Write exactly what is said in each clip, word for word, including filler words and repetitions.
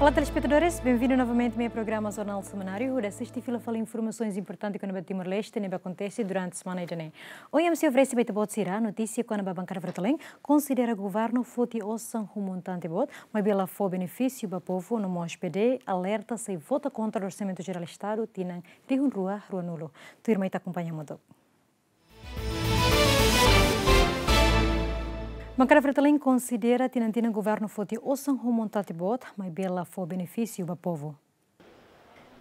Olá, telespetadores, benvindu novamente mai programa Jornál Semanáriu, hodi asiste fila fali informasaun importante kona-ba Timor-Leste ne'ebé akontese durante semana ida-ne'e. Ohin ami sei oferese ba ita-boot sira notísia kona-ba Bankada Fretilin konsidera governu foti osan ho montante boot, maibé la fó benefísiu ba povu, no mós P D alerta sei vota kontra Orsamentu Jerál Estadu tinan rihun rua ruanulu. Tuirmai ita akompaña hamutuk. Bankada Fretilin konsidera tinan-tinan governu foti osan ho montante boot, maibé la fó benefísiu ba povu.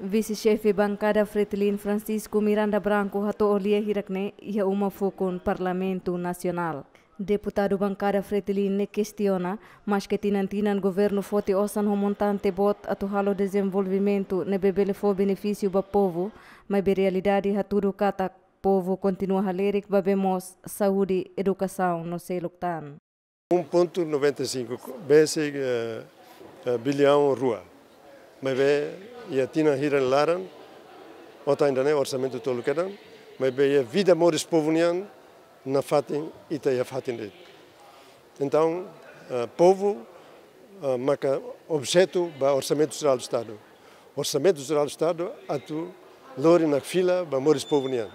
Vise-Xefe Bankada Fretilin Francisco Miranda Branco hato'o lia hirak-ne'e iha uma fukun Parlamentu Nasionál. Deputadu Bankada Fretilin ne'e kestiona, maske tinan-tinan governu foti osan ho montante boot atu halo dezenvolvimentu ne'ebé bele fó benefísiu ba povu, maibé realidade hatudu katak povu kontinua halerik ba bee moos, saúde, edukasaun no seluk tan. Um ponto noventa e cinco bese, eh, eh, biliaun rua. Maibé iha tinan hirak nia laran, otan ida-ne'e orsamentu tolu kedan, maibé iha vida moris povu nian nafatin ita iha fatin de'it. Entaun, eh, povu, eh, maka objetu ba Orsamentu Jerál Estadu. Orsamentu Jerál Estadu atu lori nakfila ba moris povu nian.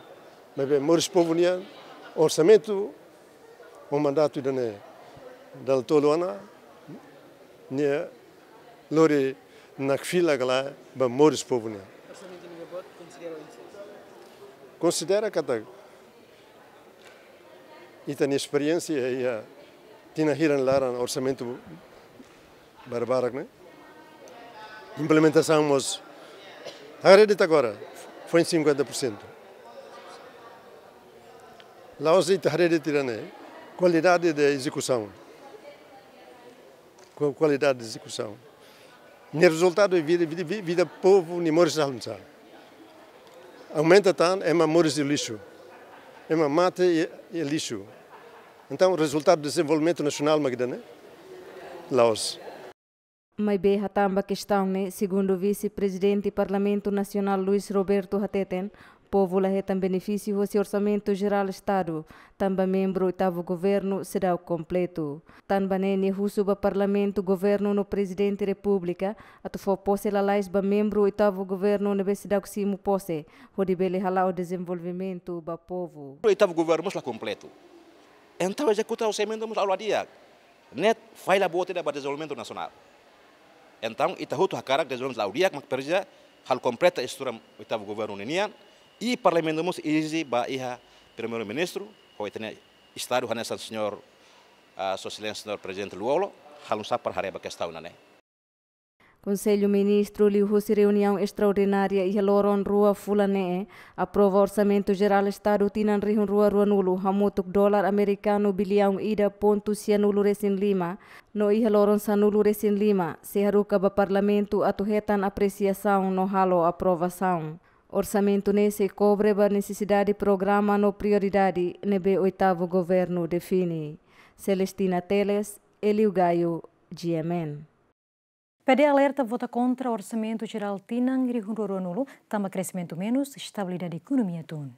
Maibé moris povu nian, orsamentu ho mandatu ida-ne'e dala tolu ona, nia lori nakfila ka lae ba moris povu nian. Konsidera katak ita-nia esperiénsia iha tinan hirak nia laran orsamentu barak-barak ne'e. Implementasaun mós haree de'it agora, foin cinquenta por cento. La'ós ita haree de'it ida-ne'e, kualidade de ezekusaun. Ku-, kualidade de ezekusaun. Nia rezultadu é vida, vida, vida, vida povu nia moris alunsa. Aumenta tan, ema moris iha lixu. Ema mate iha, iha lixu. Entaun, rezultadu dezenvolvimentu nasionál mak ida-ne'e? La'ós. Maibé hatán ba kestaun ne'e, segundu Vise-Prezidente Parlamentu Nasionál Luis Roberto hateten, povu la hetan benefísiu hosi Orsamentu Jerál Estadu, tanba membru oitavu governu seidauk kompletu. Tanba ne'e nia husu ba Parlamentu, governu no Prezidente Repúblika atu fó pose lalais ba membru oitavu governu ne'ebé seidauk simu pose, hodi bele hala'o dezenvolvimentu ba povu. Oitavu governu mós la kompletu. Entaun ezekuta orsamentu mós la'o di'ak. Ne'e falla boot ida ba dezenvolvimentu nasionál. Entaun, ita hotu hakarak dezenvolvimentu la'o di'ak, mak presiza halo kompleta estrutura oitavu governu ninian, i Parlamentu mós ezije ba iha Primeiru-Ministru, ho ita-nia Estadu hanesan señór, ah, Sua Exelénsia señór Prezidente Lú-Olo, halo nu'usá para haree ba kestaun ne'e. Konsellu Ministru liuhusi reuniaun estraordinária iha loron rua fulan ne'e, aprova Orsamentu Jerál Estadu tinan rihun rua ruanulu hamutuk dolar amerikanu biliaun ida pontu sianulu resin lima, no iha loron sanulu resin lima, sei haruka ba Parlamentu atu hetan apresiasaun no halo aprovasaun. Orsamentu ne'e sei kobre ba nesesidade programa no prioridade ne'ebé oitavu governu define. Celestina Teles, Elio Gaio, G M N. P D alerta vota kontra Orsamentu Jerál tinan rihun rua ruanulu, tanba kreximentu menus, estabilidade ekonomia tun.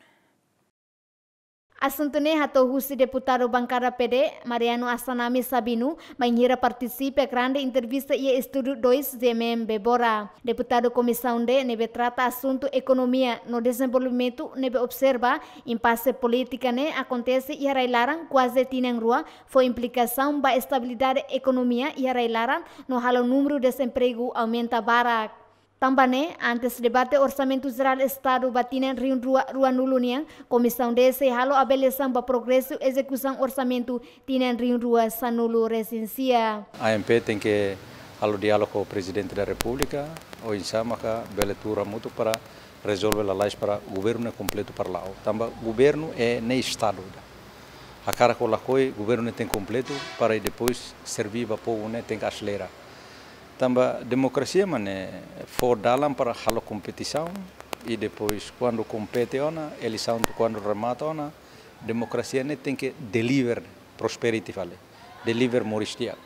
Asuntu ne'e hato'o husi deputadu Bankada P D, Mariano Assanami Sabino, bainhira partisipa grande entrevista iha Estúdiu dois G M M Bebora. Deputadu Komisaun D ne'ebé trata asuntu ekonomia no dezenvolvimentu ne'ebé observa, impase polítika ne'e akontese iha rai-laran kuaze tinan rua, fó implikasaun ba estabilidade ekonomia iha rai-laran no halo númeru dezempregu aumenta barak. Tanba ne'e, antes debate Orsamentu Jerál Estadu ba tinan rihun rua ruanulu nian, Komisaun D sei halo avaliasaun ba progresu ezekusaun orsamentu tinan rihun rua sanulu resin sia. A M P tenke halo diálogu ho Prezidente da Repúblika, oinsá maka bele tuur hamutuk para rezolve lalais para governu ne'e kompletu para la'o. Tanba governu ne'e Estadu ida. Hakarak ka lakohi, governu ne'e tenke kompletu para i depois serví ba povu ne'e tenke aselera. Tanba demokrasia mak ne'e fó dalan para halo kompetisaun i depois kuandu kompete ona, eleisaun kuandu remata ona, demokrasia ne'e tenke deliver prosperity fali, deliver moris di'ak.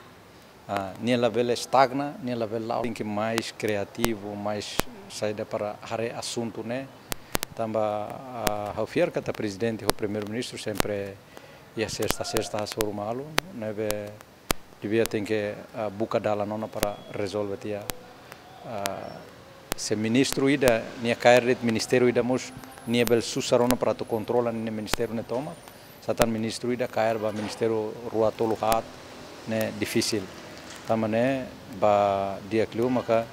Ah, nia labele estagna, nia labele la'o. Tenke mais kreativu, mais saida para haree asuntu ne'e. Tanba, ah, ha'u fiar katak Prezidente ho Primeiru-Ministru sempre iha sesta-sesta hasoru malu, ne'ebé devia tenke, ah, buka dalan ona para rezolve tiha Ah, se ministru ida, nia kaer de'it ministériu ida mós, nia bele susar ona para atu kontrola ninia ministériu ne'e tomak. Sá tan ministru ida kaer ba ministériu rua tolu haat ne'e difisil. Tanba ne'e ba di'ak liu maka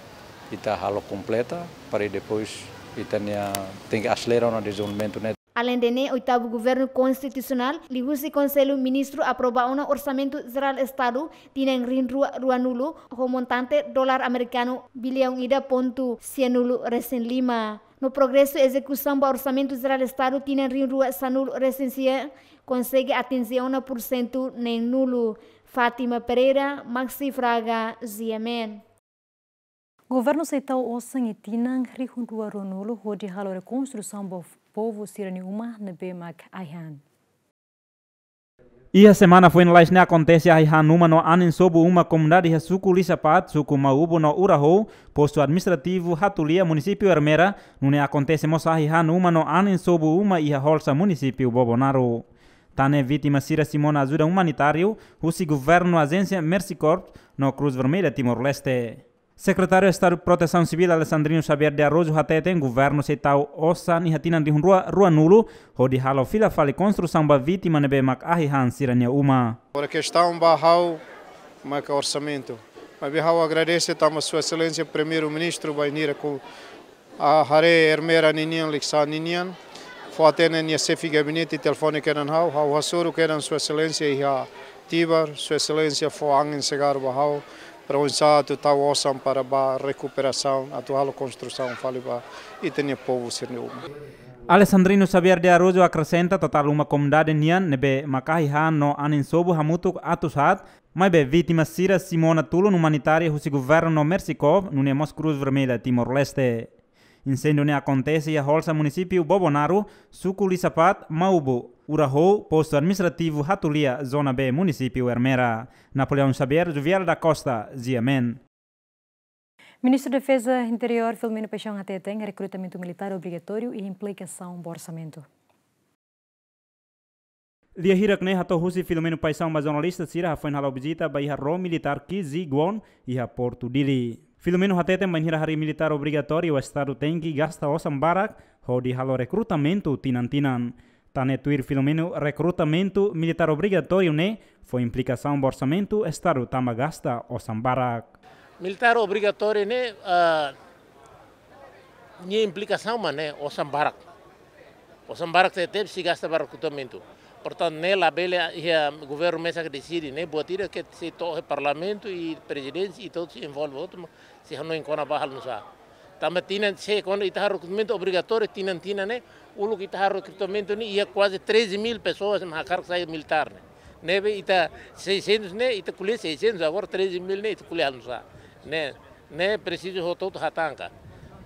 ita halo kompleta, para depois ita-nia tenke aselera ona dezenvolvimentu ne'e. Aleinde ne'e, oitavu Governu Konstitusionál, liuhusi Konsellu Ministru aprova ona Orsamentu Jerál Estadu tinan rihun rua ruanulu, ho montante dolar amerikanu biliaun ida pontu sianulu resin lima. No progresu ezekusaun ba Orsamentu Jerál Estadu tinan rihun rua sanulu resin sia konsege atinje ona pursentu neenulu. Fátima Pereira, Maxi Fraga, G M N. Governu sei tau osan iha tinan rihun rua ruanulu hodi halo rekonstrusaun ba povu sira-nia uma ne'ebé mak ahi han. Iha semana foin lalais ne'e akontese ahi han uma no anin sobu uma komunidade iha suku Lisapat, suku Maubo no Urahou, postu administrativu Hatulia, munisípiu Ermera, nune'e akontese mós ahi han uma no anin sobu uma iha Holsa, munisípiu Bobonaro. Tan ne'e vítima sira simu ona ajuda umanitáriu husi governu, ajénsia Mercy Corps no Cruz Vermelha Timor-Leste. Sekretáriu Estadu Protesaun Sivíl Alexandrino Xavier de Araújo hateten governu sei tau osan iha tinan rihun rua ruanulu hodi halo fila fali konstrusaun ba vítima ne'ebé mak ahi han sira-nia uma. Agora kestaun ba ha'u maka orsamentu. Maibé ha'u agradese tanba Sua Exelénsia Primeiru-Ministru bainhira ku a haree Ermera ninian, Likisá ninian, fó-hatene nia xefe gabinete telefone kedan ha'u, ha'u hasoru kedan Sua Exelénsia iha Tibar, Sua Exelénsia fó angin segar ba ha'u, para oinsá atu tau osan para ba rekuperasaun, atu halo konstrusaun fali ba ita-nia povu sira-nia uma. Alexandrino Xavier de Araújo akresenta totál uma komunidade nian ne'ebé mak ahi han no anin sobu hamutuk atus haat, maibé vítima sira simu ona tulun umanitáriu husi governu no Mercy Corps, nune'e mós Cruz Vermelha Timor-Leste. Inséndiu ne'e akontese iha Holsa, munisípiu Bobonaro, suku Lisapat, Maubo, Urahou, postu administrativu Hatulia, zona B, munisípiu Ermera. Napoleão Xavier, Juvial da Costa, G M N. Ministru Defeza Interiór Filomeno Paixão hateten rekrutamentu militár obrigatóriu iha implikasaun ba orsamentu. Lia hirak ne'e hato'o husi Filomeno Paixão ba jornalista sira hafoin hala'o vizita ba iha ró militár Ki Zi Guon iha Portu Dili. Filomeno hateten bainhira harii militár obrigatóriu Estadu tenke gasta osan barak hodi halo rekrutamentu tinan-tinan. Tan ne'e tuir Filomeno, rekrutamentu militár obrigatóriu ne'e fó implikasaun ba orsamentu Estadu tanba gasta osan barak. Militár obrigatóriu ne'e, ah, nia implikasaun mak ne'e osan barak. Osan barak tebes, sei gasta ba rekrutamentu. Portantu, ne'e labele iha governu mesak deside, ne'e buat ida ke sei to'o iha Parlamentu i Prezidénsia i to'o sei envolve hotu, sei hanoin kona-ba halo nusá. Tanba tinan, se kuandu ita halo rekrutamentu obrigatóriu tinan-tinan ne'e, uluk ita halo rekrutamentu ne'e iha kuaze treze mil pessoas mak hakarak sai militár ne'e. Ne'ebé ita seiscentos ne'e, ita ko'alia seiscentos, agora treze mil ne'e, ita ko'alia halo nusá. Ne'e, ne'e presiza hotu-hotu hatán ka.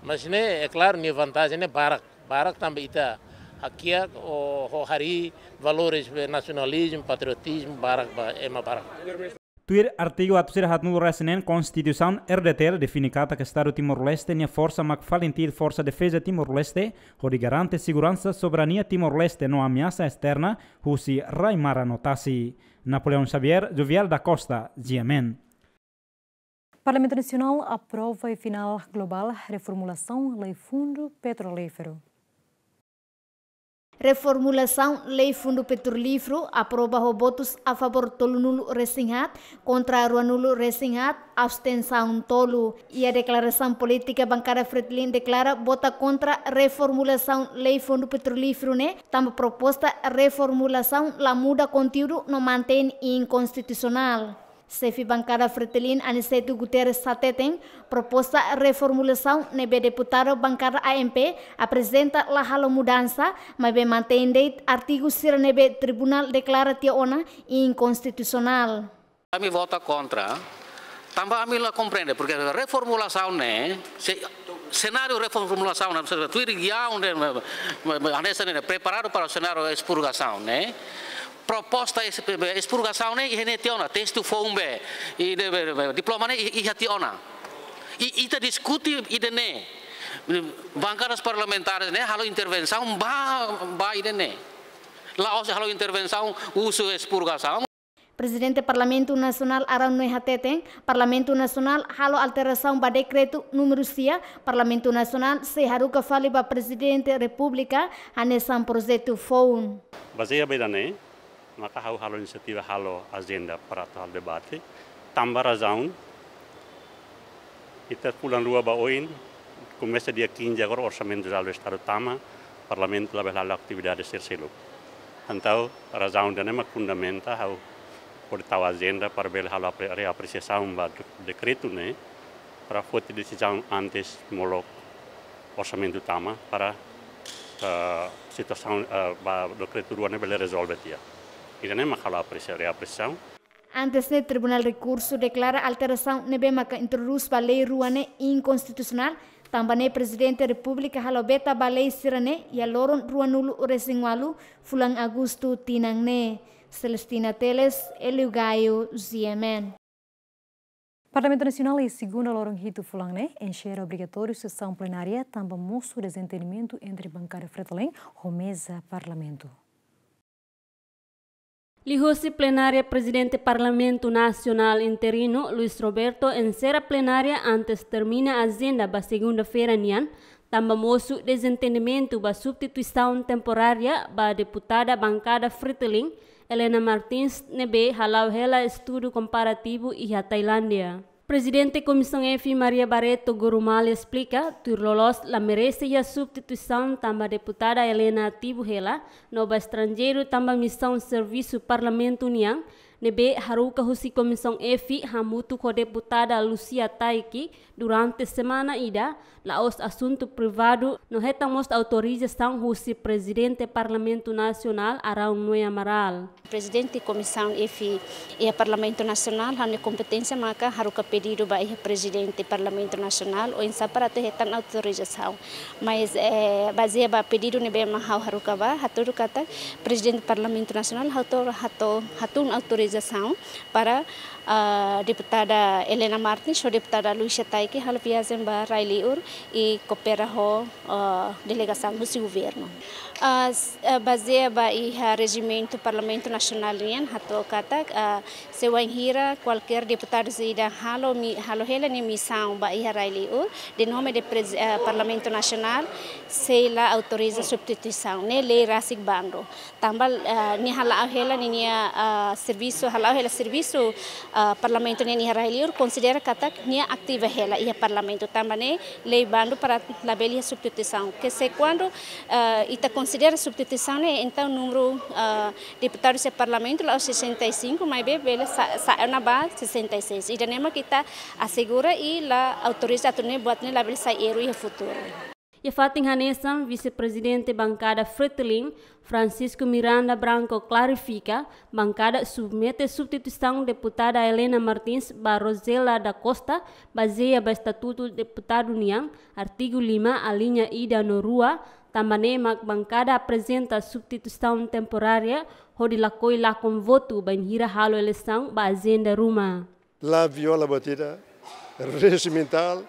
Mas ne'e, é claro, nia vantajen ne'e barak. Barak tanba ita hakiak ho, ho harii valores nasionalizmu, patriotizmu, barak ba ema barak. Tuir artigu atus ida haatnulu resin neen Konstituisaun R D T L define katak Estadu Timor-Leste nia forsa mak FALINTIL, Forsa Defeza Timor-Leste, hodi garante seguransa, soberania Timor-Leste no ameasa esterna husi rai-maran no tasi. Napoleão Xavier, Jovial da Costa, G M N. Parlamentu Nasionál aprova iha final globál reformulasaun Lei Fundu Petrolíferu. Reformulasaun Lei Fundu Petrolíferu aprova ho votus a favór tolunulu resin haat, kontra ruanulu resin haat, abstensaun tolu. Iha deklarasaun polítika, bankada Fretilin deklara vota kontra reformulasaun Lei Fundu Petrolíferu ne'e tanba proposta reformulasaun la muda konteúdu no mantein inkonstitusionál. Xefe bankada Fretilin, Aniceto Guterres hateten, proposta reformulasaun ne'ebé deputadu bankada A M P aprezenta la halo mudansa, maibé mantein de'it artigu sira ne'ebé tribunál deklara tiha ona inkonstitusionál. Ami vota kontra, tanba ami la komprende, porke reformulasaun ne'e, se-, senáriu reformulasaun ne'e, se-, tuir guiaun ne'e, hanesan ne'e, preparadu para senáriu espurgasaun ne'e, proposta es-, espurgasaun ne'e, iha ne'e tiha ona, testu foun be, i de, be, be, diploma ne'e, i, iha tiha ona. I, ita diskute ida-ne'e, bankadas parlamentares ne'e, halo intervensaun ba, ba ida-ne'e. La'ós halo intervensaun usu espurgasaun. Prezidente Parlamentu Nasionál Araun Noe hateten, Parlamentu Nasionál halo alterasaun ba dekretu númeru sia, Parlamentu Nasionál sei haruka fali ba Prezidente Repúblika hanesan projetu foun. Bazeia ba ida-ne'e, maka ha'u halo inisiativa halo ajenda para atu halo debate, tanba razaun ita fulan rua ba oin, komesa dia quinze agora Orsamentu Jerál do Estadu tama, Parlamentu labele halo atividade sira seluk. Entaun, razaun ida-ne'e mak fundamenta ha'u hodi tau ajenda para bele halo apre-, reapresiasaun ba de-, dekretu ne'e, para foti desizaun antes molok Orsamentu tama para, eh, situasaun, eh, ba dekretu rua ne'e bele rezolve tiha. Ida-ne'e mak halo apresia-, reapresiasaun. Antes ne'e, Tribunál Rekursu deklara alterasaun ne'ebé maka introdús ba lei rua ne'e inkonstitusionál, tanba ne'e Prezidente Repúblika halo veta ba lei sira-ne'e iha loron ruanulu-resin-ualu fulan Agostu tinan ne'e. Celestina Teles, Elio Gaio, G M N. Parlamentu Nasionál iha segunda loron hitu fulan ne'e enxerra obrigatóriu sesaun plenária tanba mosu dezentendimentu entre bankada Fretilin ho meza Parlamentu. Liuhusi plenária, Prezidente Parlamentu Nasionál interinu, Luis Roberto, enserra plenária antes termina ajenda ba segunda-feira nian, tanba mosu dezentendimentu ba substituisaun temporária ba deputada bankada Fretilin, Helena Martins, ne'ebé hala'o hela estudu komparativu iha Tailándia. Prezidente Komisaun F, Maria Barreto Gorumale, esplika, tuir loloos la merese iha substituisaun tanba deputada Helena ativu hela no ba estranjeiru tanba misaun servisu Parlamentu nian, ne'ebé haruka husi Komisaun F hamutuk ho deputada Lucia Taiki durante semana ida, la'ós asuntu privadu, no hetan mós autorizasaun husi Prezidente Parlamentu Nasionál Araun Noe Amaral. Prezidente Komisaun F iha Parlamentu Nasionál, ha'u-nia kompeténsia maka haruka pedidu ba iha Prezidente Parlamentu Nasionál, oinsá para atu hetan autorizasaun. Mas, eh, bazeia ba pedidu ne'ebé mak ha'u haruka ba, hatudu katak Prezidente Parlamentu Nasionál ha'u to-, ha'u to-, hatún autorizasaun para, ah, deputada Helena Martins ho deputada Lucia Taiki halo viajen ba rai-liur i koopera ho, ah, delegasaun husi governu. Ah, s-, ah, bazeia ba iha rejimentu Parlamentu Nasionál nian hato'o katak, ah, se wainhira kualkér deputadu ida halo mi-, halo hela nia misaun ba iha rai-liur, de nome de prez-, ah, Parlamentu Nasionál, sei la autoriza substituisaun, ne'e lei rasik bandu. Tanba, ah, nia hala'o hela ninia, ah, servisu, hala'o hela servisu, ah, Parlamentu nian iha rai-liur, konsidera katak nia ativa hela iha Parlamentu. Tanba ne'e lei bandu para labele iha substituisaun. Ke se kuandu, ah, ita konsidera substituisaun ne'e, entaun númeru, ah, deputadu iha Parlamentu la'ós sessenta e cinco, maibé bele sa-, sa'e ona ba sessenta e seis. Ida-ne'e mak ita asegura i la autoriza atu nune'e buat ne'e labele sai erru iha futuru. Iha fatin hanesan, Vise-Prezidente Bankada Fretilin, Francisco Miranda Branco, klarifika, bankada submete substituisaun deputada Helena Martins ba Rosela da Costa, bazeia ba Estatutu Deputadu nian, artigu lima, aliña ida no rua, tanba ne'e mak bankada aprezenta substituisaun temporária, hodi lakohi lakon votu bainhira halo eleisaun ba ajenda ruma. La viola buat ida rejimentál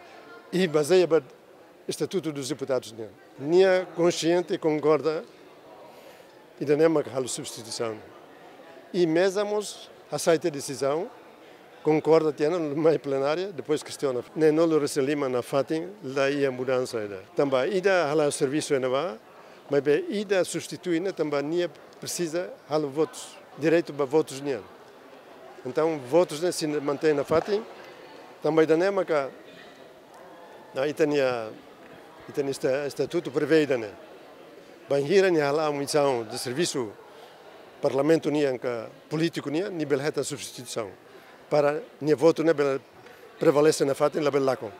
i bazeia ba Estatutu dos Deputados nian. Nia konxiente konkorda, ida-ne'e mak halo substituisaun. I meza mós aseita desizaun, konkorda tiha ona, mai plenária, depois kestiona. Neenulu-resin-lima nafatin la iha mudansa ida. Tanba ida hala'o servisu iha ne'ebá, maibé ida substitui ne'e tanba nia presiza halo votus, direitu ba votus nian. Entaun, votus ne'e sei mantein nafatin, tanba ida-ne'e maka, ah, ita-nia, ita-nia esta-, estatutu prevee ida-ne'e. Bainhira nia hala'o misaun de servisu Parlamentu nian ka polítiku nian, nia bele hetan substituisaun. Para nia votu ne'e bele prevalese nafatin, labele lakon.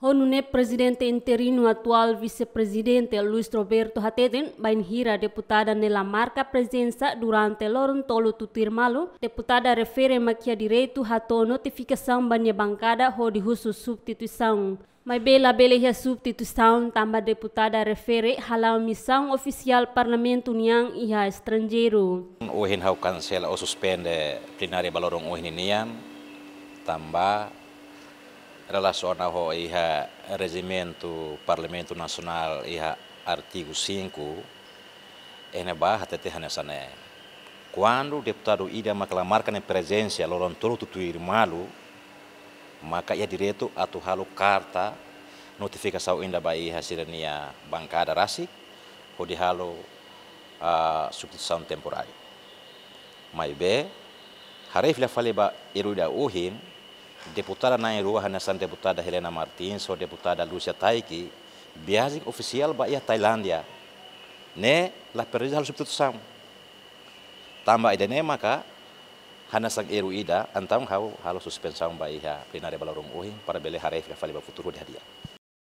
Ho nune'e Prezidente interinu atuál Vise-Prezidente Luis Roberto hateten, bainhira deputada ne'e la marka prezensa durante loron tolu tutuir malu, deputada refere mak iha direitu hato'o notifikasaun ba nia bankada hodi husu substituisaun. Maibé labele iha substituisaun tanba deputada refere hala'o misaun ofisiál Parlamentu nian iha estranjeiru. Ohin ha'u kansela ou suspende plenária ba loron ohin nian, tanba relasiona ho iha rejimentu Parlamentu Nasionál iha artigu cinco, iha ne'ebá hatete hanesan ne'e. Kuandu deputadu ida maka la marka nia prezensa loron tolu tutuir malu, maka iha direitu atu halo karta notifikasaun ida ba iha sira-nia bankada rasik, hodi halo, ah, substituisaun temporária. Maibé, haree fila fali ba erru ida ohin, deputada na'in-rua hanesan deputada Helena Martins ho deputada Lúcia Taiki, viajen ofisiál ba iha Tailándia. Ne'e la presiza halo substituisaun. Tanba ida-ne'e maka hanesan erru ida, entaun ha'u halo suspensaun ba iha plenária ba loron ohin para bele haree fila fali ba futuru hodi hadi'a.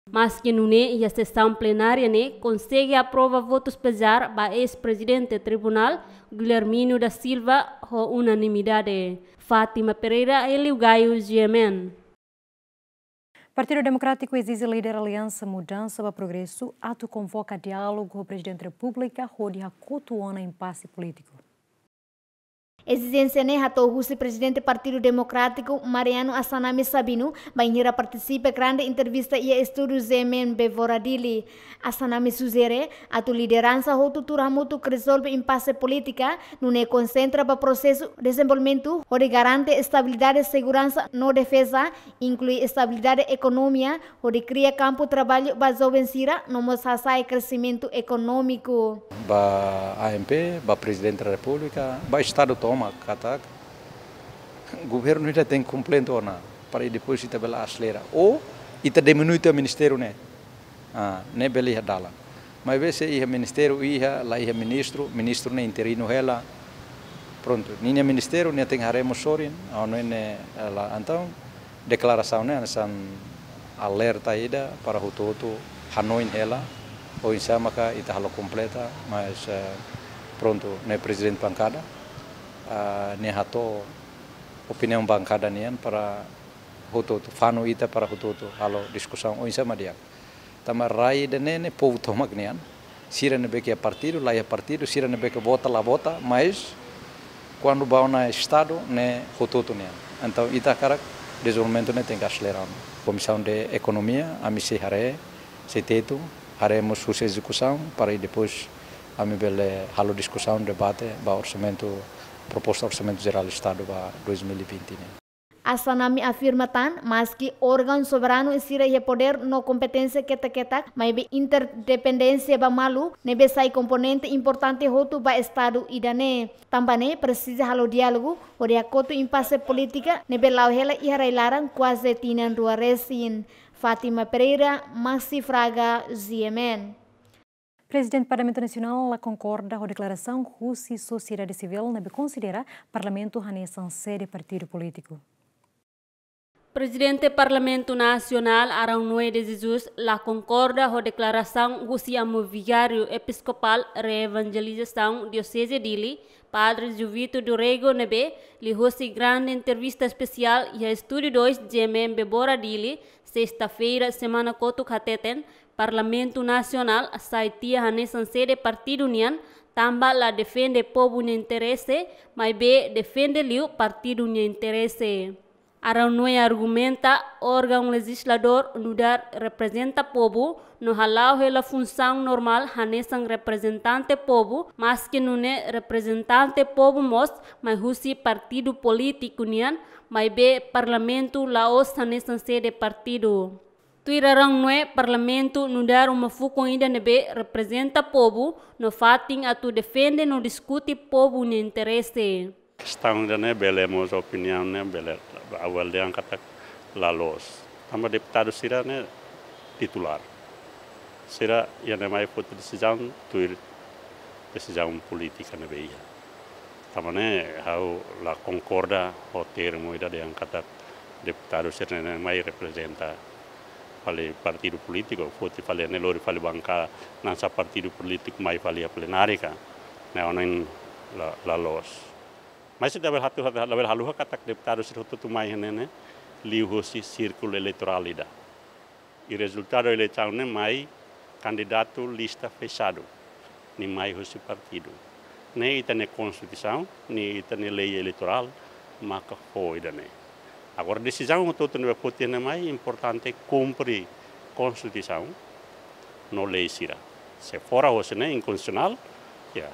Maski nune'e, iha sesaun plenária ne'e konsege aprova votus pezar ba eis-prezidente tribunál, Guilhermino da Silva, ho unanimidade. Fátima Pereira, Hélio Gaio, G M N. Partidu Demokrátiku ezije líder Aliansa Mudansa ba Progresu atu konvoka diálogu ho Prezidente Repúblika hodi hakotu ona impase polítiku. Ezijénsia ne'e hato'o husi Prezidente Partidu Demokrátiku, Mariano Assanami Sabino, bainhira partisipa grande entrevista iha estúdiu G M N Bevora Dili. Assanami sujere atu lideransa hotu tuur hamutuk rezolve impase polítika, nune'e konsentra ba prosesu dezenvolvimentu, hodi garante estabilidade, seguransa no defeza, inklui estabilidade ekonomia, hodi kria kampu traballu ba joven sira, no mós hasa'e kresimentu ekonómiku. Ba A M P, ba Prezidente da Repúblika, ba Estadu tomak katak governu ida tenke kompletu ona, para depois ita bele aselera. Ou ita diminui tiha ministériu ne'e. Ah, ne'e bele iha dalan. Maibé se iha ministériu iha, la iha ministru, ministru ne'e interinu hela. Prontu, ninia ministériu nia tenke haree mós sorin, ah, no ne'e la, entaun deklarasaun ne'e hanesan alerta ida para hotu-hotu hanoin hela, oinsá maka ita halo kompleta, mas, eh, prontu, ne'e prezidente bankada, ah, nia hato'o opiniaun bankada nian para hotu-hotu, fanu ita para hotu-hotu halo diskusaun oinsá mak di'ak. Tanba rai ida-ne'e ne'e povu tomak nian. Sira ne'ebé ke iha partidu, la iha partidu, sira ne'ebé ke vota, la vota, mas kuandu ba ona Estadu ne'e hotu-hotu nian. Entaun ita hakarak dezenvolvimentu ne'e tenke aselera. Komisaun de Ekonomia, ami sei haree, sei tetu, haree mós husi ezekusaun, para depois ami bele halo diskusaun, debate ba orsamentu, proposta Orsamentu Jerál Estadu ba dois mil e vinte ne'e. Assanami afirma tan, maski órgaun soberanu sira iha podér no kompeténsia ketak-ketak, maibé interdependénsia ba malu ne'ebé sai komponente importante hotu ba Estadu ida-ne'e. Tanba ne'e presiza halo diálogu hodi hakotu impase polítika ne'ebé la'o hela iha rai-laran kuaze tinan rua resin. Fátima Pereira, Maxi Fraga, G M N. Prezidente Parlamentu Nasionál la konkorda ho deklarasaun husi sosiedade sivíl ne'ebé konsidera Parlamentu hanesan sede partidu polítiku. Prezidente Parlamentu Nasionál, Arão Noé de Jesus, la konkorda ho deklarasaun husi Amu Vigáriu Episkopál Reevanjelizasaun Dioseze Dili, Padre Juvito do Rego ne'ebé liuhosi grande entrevista espesiál iha Estúdiu dois G M N Bevora Dili, sesta-feira semana kotuk hateten, Parlamentu Nasionál sai tiha hanesan sede partidu nian, tanba la defende povu nia interese, maibé defende liu partidu nia interese. Arão Noé argumenta, órgaun lejizladór nu'udar reprezenta povu, no hala'o hela funsaun normál hanesan reprezentante povu, maski nune'e reprezentante povu mós mai husi partidu polítiku nian, maibé Parlamentu la'ós hanesan sede partidu. Tuir Arão Noé, Parlamentu nu'udar uma fukun ida ne'ebé reprezenta povu, no fatin atu defende no diskute povu nia interese. Kestaun ida-ne'e bele mós opiniaun ne'e bele avaliasaun katak la loos. Tanba deputadu sira-ne'e titulár. Sira iha ne'e mai foti desizaun tuir desizaun polítika ne'ebé iha. Tanba ne'e ha'u la konkorda ho termu ida dehan katak deputadu sira-ne'e mai reprezenta fali partidu polítiku, foti fali ne'e lori fali bankada, hanesan partidu polítiku mai fali iha plenárika, ne'e ohin la, la loos. Mas ita labele hatu, hatu, labele haluha katak deputadu sira hotu-hotu mai iha ne'e ne'e liuhosi sírkulu eleitorál ida. I rezultadu eleisaun ne'e mai kandidatu lista fexadu, nia mai husi partidu. Ne'e ita-nia konstituisaun, ne'e ita-nia lei eleitorál, maka fó ida-ne'e. Agora desizaun hotu-hotu ne'ebé foti ne'e mai importante kumpre konstituisaun no lei sira. Se fora husi ne'e inkonstitusionál, ya,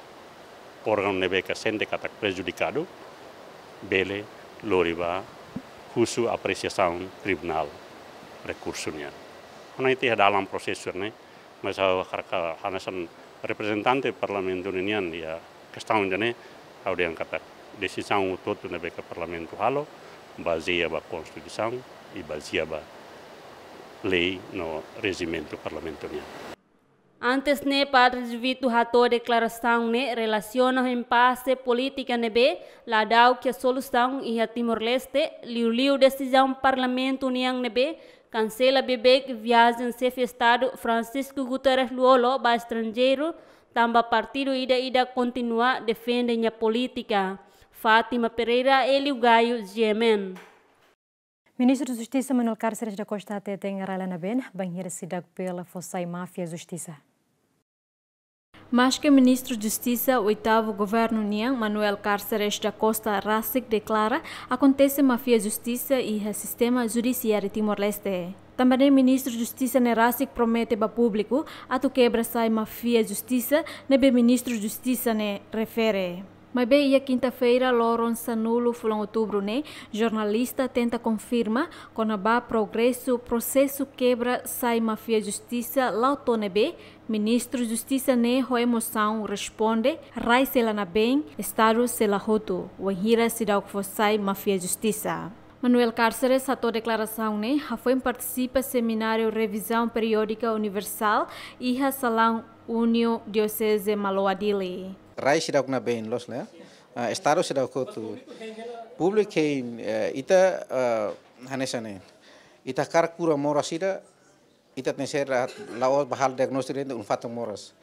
Órgaun ne'ebé ke sente katak prejudikadu, bele lori ba husu apresiasaun tribunál rekursu nian. Ha'u hanoin tiha dalam prosesu ne'e, mas ha'u hakarak hanesan reprezentante Parlamentu nian iha kestaun ida-ne'e, ha'u dehan katak desizaun hotu-hotu ne'ebé ke Parlamentu halo, bazeia ba Konstituisaun i bazeia ba lei no rejimentu Parlamentu nian. Antes ne'e, Padre Vito hato'o deklarasaun ne'e relasiona ho impase polítika ne'ebé la da'uk iha solusaun iha Timor-Leste, liuliu desizaun Parlamentu nian ne'ebé kansela beibeik viajen Xefe Estadu Francisco Guterres Lú-Olo ba estranjeiru, tanba partidu ida-idak kontinua defende nia polítika. Fátima Pereira, Hélio Gaio, G M N. Ministru Justisa Manuel Cárceres da Costa hateten rai la nabeen bainhira seidauk bele fó sai máfia justisa. Maske Ministru Justisa oitavu governu nian, Manuel Cárceres da Costa, rasik deklara akontese máfia justisa iha sistema judisiáriu Timor-Leste. Tanba ne'e Ministru Justisa ne'e rasik promete ba públiku atu kebra sai máfia justisa ne'ebé Ministru Justisa ne'e refere. Maibé iha kinta-feira, loron sanulu fulan outubru ne'e, jornalista tenta konfirma kona-ba progresu prosesu kebra sai máfia justisa la'o to'o ne'ebé Ministru Justisa ne'e ho emosaun responde rai sei la nabeen, Estadu sei la hotu, wainhira seidauk fó sai máfia justisa. Manuel Cárceres hato'o deklarasaun ne'e hafoin partisipa semináriu revizaun periódika universál iha salaun Uniu Dioseze Maloa Dili. Rai seidauk nabeen loos, ne'e? Ah, Estadu seidauk hotu. Públiku hein, eh, ita, eh, hanesan ne'e. Ita hakarak kura moras ida, ita tenke ser la, la'ós bá halo diagnóstiku de'it un fatuk moras.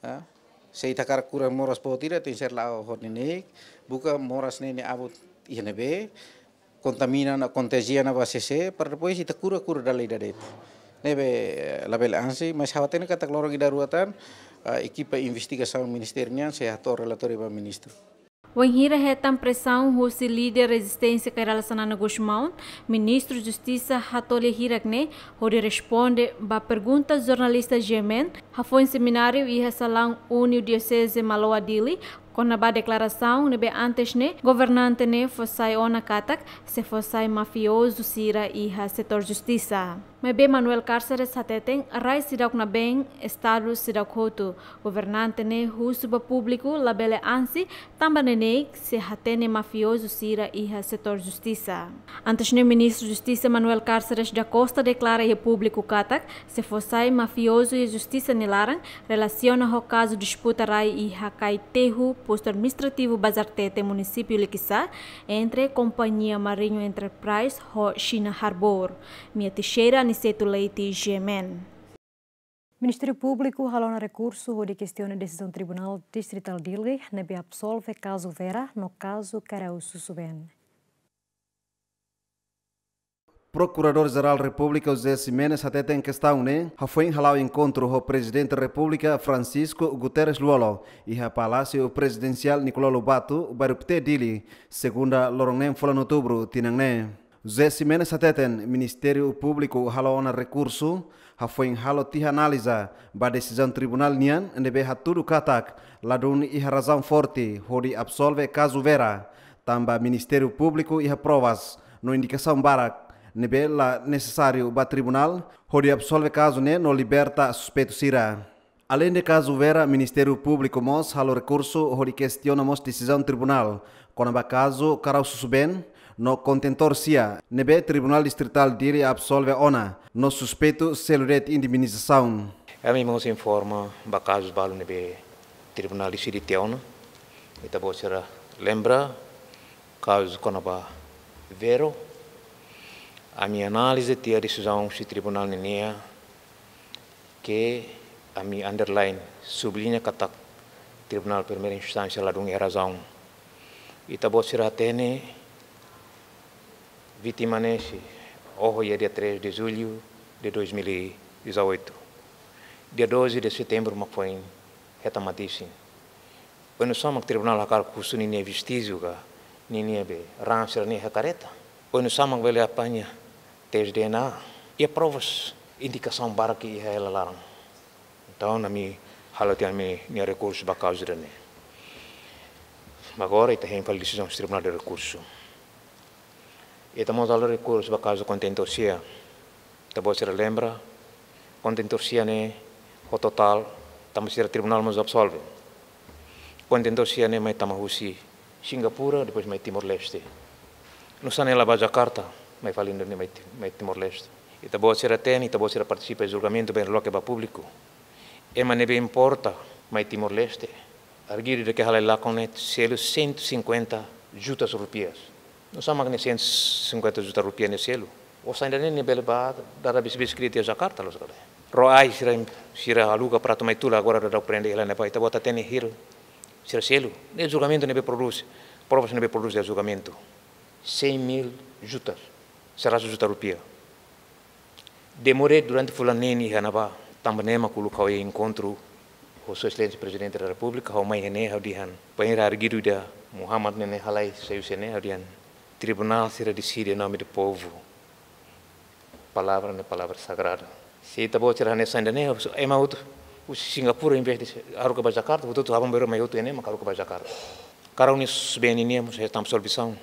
Ah, se ita hakarak kura moras boot ida, tenke ser la'o ho neineik, buka moras ne'e nia abut iha ne'ebé, kontamina ona, kontajia ona ba sé-sé, para depois ita kura, kura dala ida de'it. Ne'ebé, eh, labele ansi, mas ha'u hatene katak loron ida rua tan, ah, ekipa investigasaun ministériu nian sei hato'o relatóriu ba ministru. Wainhira hetan presaun husi líder rezisténsia Kay Rala Xanana Gusmão, Ministru Justisa hato'o lia hirak ne'e hodi responde ba pergunta jornalista G M N, hafoin semináriu iha salaun Uniu Dioseze Maloa Dili, kona-ba deklarasaun ne'ebé antes ne'e governante ne'e fó sai ona katak sei fó sai mafiozu sira iha setór justisa. Maibé Manuel Cárceres hateten rai seidauk nabeen, Estadu seidauk hotu. Governante ne'e husu ba públiku labele ansi, tanba neineik sei hatene mafiozu sira iha setór justisa. Antes ne'e Ministru Justisa Manuel Cárceres da Costa deklara iha públiku katak sei fó sai mafiozu iha justisa nia laran, relasiona ho kazu disputa rai iha Caetejo, postu administrativu Bazartete, munisípiu Liquiçá, entre kompañia Marinho Enterprise ho China Harbour. Mia Teixeira, Aniceto Leite, G M N. Ministériu Públiku halo ona rekursu hodi kestiona desizaun Tribunál Distritál Dili ne'ebé absolve kazu Vera no kazu Karaú Susubeen. Prokuradór-Jerál Repúblika José Ximenes hateten kestaun ne'e hafoin hala'o enkontru ho Prezidente Repúblika Francisco Guterres Lú-Olo iha Palásiu Prezidensiál Nicolau Lobato, Bairru Pité, Dili, segunda loron neen fulan outubru tinan ne'e. José Ximenes hateten Ministériu Públiku halo ona rekursu, hafoin halo tiha analiza ba desizaun tribunál nian ne'ebé hatudu katak ladún iha razaun forte hodi absolve kazu Vera, tanba Ministériu Públiku iha provas no indikasaun barak ne'ebé la nesesáriu ba tribunál hodi absolve kazu ne'e no liberta suspeitu sira. Aleinde kazu Vera, Ministériu Públiku mós halo rekursu hodi kestiona mós desizaun tribunál kona-ba kazu Karaú Susubeen no kontentór sia ne'ebé Tribunál Distritál Dili absolve ona no suspeitu selu de'it indemnizasaun. Ami mós informa ba kazu balu ne'ebé tribunál deside tiha ona. Ita-boot sira lembra kazu kona-ba Vero. Ami analiza tiha desizaun husi tribunál nian ke ami underline, subliña katak Tribunál Primeira Instánsia ladún iha razaun. Ita-boot sira hatene vítima ne'e sei oho iha dia três de julho de dois mil e dezoito. Dia doze de setembro mak foin hetan mate-isin. Oinsá mak tribunál hakarak husu ninia vestíjiu ka ninia be raan sira-ne'e iha kareta? Oinsá mak bele apaña tes D N A? Iha provas, indikasaun barak iha hela laran. Entaun, ami halo tiha ami-nia rekursu ba kauza ida-ne'e. Agora ita hein fali desizaun Tribunál de Rekursu. Ita mós halo rekursu ba kazu kontentór sira. Ita-boot sira lembra, kontentór sira-ne'e ho totál, tanba sira tribunál mós absolve. Kontentór sira-ne'e mai tama husi Singapura, depois mai Timor-Leste. Nusá ne'e la ba Jakarta, mai fali Indo-, mai Ti-, mai Timor-Leste. Ita-boot sira hatene, ita-boot sira partisipa iha julgamentu, bele loke ba públiku. Ema ne'ebé importa mai Timor-Leste, arguidu ida ke halai lakon ne'e selu cento e cinquenta jutas rupias. Nusá mak ne'e cento e cinquenta juta rupiah ne'e selu? Osan ida-ne'e nia bele ba dada bis-bis kredit iha Jakarta loos ka lae? Ró ai sira, sira aluga para atu mai tula, agora daudaun prende hela ne'ebá, ita-boot hatene hira sira selu. Ne'e julgamentu ne'ebé prodús, provas ne'ebé prodús iha julgamentu. Cem mil jutas, seratus juta rupiah. Demorei durante fulan neen iha ne'ebá, tanba ne'e mak uluk ha'u iha enkontru ho Sua Exelénsia Prezidente da Repúblika, ha'u mai iha ne'e ha'u dehan, bainhira arguidu ida Muhammad ne'e halai sai husi ne'e, ha'u dehan, tribunál sira deside em nome do povo. Palavra ne'e palavra sagrada. Se ita-boot sira hanesan ida-ne'e, ema hotu husi Singapura, em vez de haruka ba Jakarta, hotu-hotu aban-bainrua mai hotu iha ne'e mak haruka ba Jakarta. Karau nia susbeen nian mós hetan absolvisaun.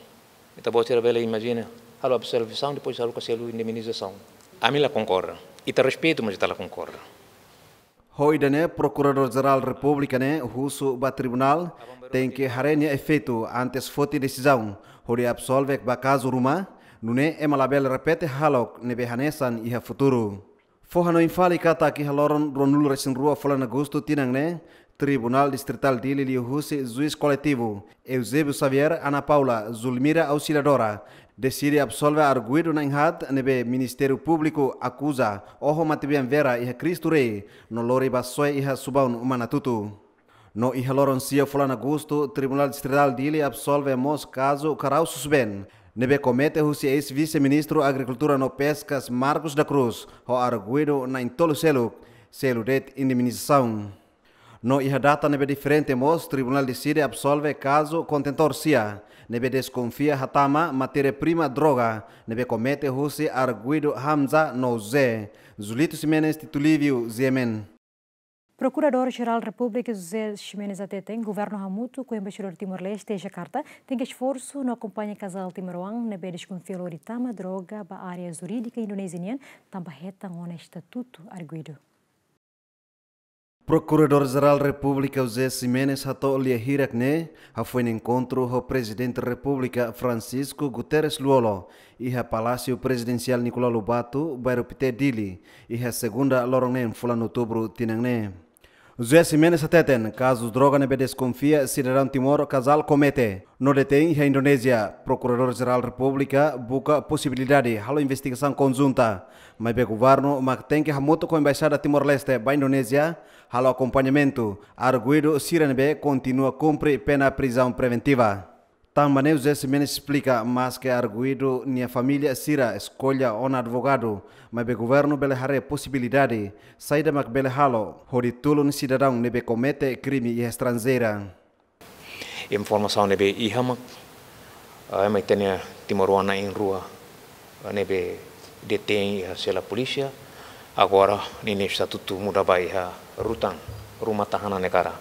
Ita-boot sira bele imajina, halo absolvisaun, depois haruka selu indemnizasaun. Ami la konkorda. Ita respeitu, mas ita la konkorda. Ho ida-ne'e, Prokuradór Jerál Repúblika ne'e husu ba tribunál tenke haree nia efeitu antes foti desizaun hodi absolve ba kazu ruma, nune'e ema labele repete hahalok ne'ebé hanesan iha futuru. Fó-hanoin fali katak iha loron ruanulu-resin-rua fulan Agostu tinan ne'e, Tribunál Distritál Dili liuhusi juís koletivu Eusébio Xavier, Ana Paula, Zulmira Auxiliadora, deside absolve arguidu na'in-haat ne'ebé Ministériu Públiku akuza oho matebian vera iha Cristo Rei no lori ba soe iha Subaun Manatutu. No iha loron sia fulan Agostu, Tribunál Distritál Dili absolve mós kazu karau susbeen ne'ebé komete husi eis-vise-ministru Agrikultura no Peskas Marcos da Cruz ho arguidu na'in-tolu seluk, selu de'it indemnizasaun. No iha data ne'ebé diferente mós, tribunál deside absolve kazu kontentór sira ne'ebé deskonfia hatama matéria-prima droga ne'ebé komete husi arguidu Hamza no José. Zulito Ximenes, Tito Livio, G M N. Prokuradór Jerál Repúblika José Ximenes hateten, governu hamutuk ho Embaixadór Timor-Leste iha Jakarta tenke esforsu no akompaña kazál timoroan ne'ebé deskonfia lori tama droga ba área jurídika Indonézia nian, tanba hetan ona estatutu arguidu. Prokuradór Jerál Repúblika José Ximenes hato'o lia hirak ne'e hafoin enkontru ho Prezidente Repúblika Francisco Guterres Lú-Olo iha Palásiu Prezidensiál Nicolau Lobato, Bairru Pité, Dili, iha segunda loron neen fulan Outubru tinan ne'e. José Ximenes hateten, kazu droga ne'ebé deskonfia sidadaun Timor kazál komete no detein iha Indonézia, Prokuradór Jerál Repúblika buka posibilidade halo investigasaun konjunta, maibé governu mak tenke hamutuk ho Embaixada Timor-Leste ba Indonézia halo akompañamentu arguidu sira ne'ebé kontinua kumpre pena prizaun preventiva. Tanba ne'e José Ximenes esplika, maske arguidu nia família sira eskolla ona advogadu, maibé governu bele haree posibilidade saida mak bele halo hodi tulun sidadaun ne'ebé komete krime iha estranjeira. Informasaun ne'ebé iha mak, ah, ema ita-nia timoroan na'in-rua ne'ebé detein iha sela polísia, agora ninia estatutu muda ba iha rutan, ruma tahan iha negara.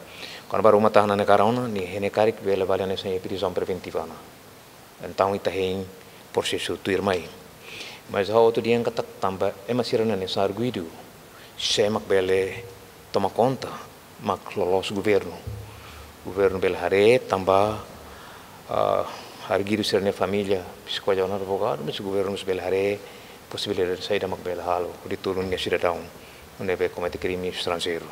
Kuandu ba ruma tahan iha negara ona, nia hein karik bele bá hanesan iha prizaun preventiva ona. Entaun ita hein prosesu tuirmai. Mas ha'u atu dehan katak tanba ema sira-ne'e hanesan arguidu, sé mak bele toma konta, mak loloos governu. Governu bele haree tanba, ah, arguidu sira-nia família eskolla ona advogadu, mas governu bele haree posibilidade saida mak bele halo hodi tulun nia sidadaun ne'ebé komete krime estranjeiru.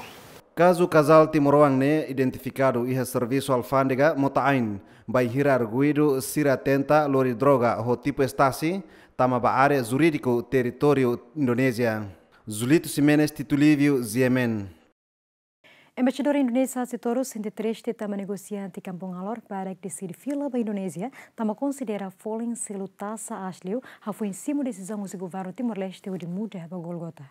Kazu kazál timoroan ne'e identifikadu iha servisu alfándega Mota Ain, bainhira arguidu sira tenta lori droga ho tipu estasi tama ba área jurídiku territóriu Indonézia. Zulito Ximenes, Tito Livio, G M N. Embaixadór Indonézia Sitoru sente triste tanba negosiante Kampung Alor barak deside fila ba Indonézia, tanba konsidera folin selu taxa aas liu, hafoin simu desizaun husi governu Timor-Leste hodi muda ba Golgota.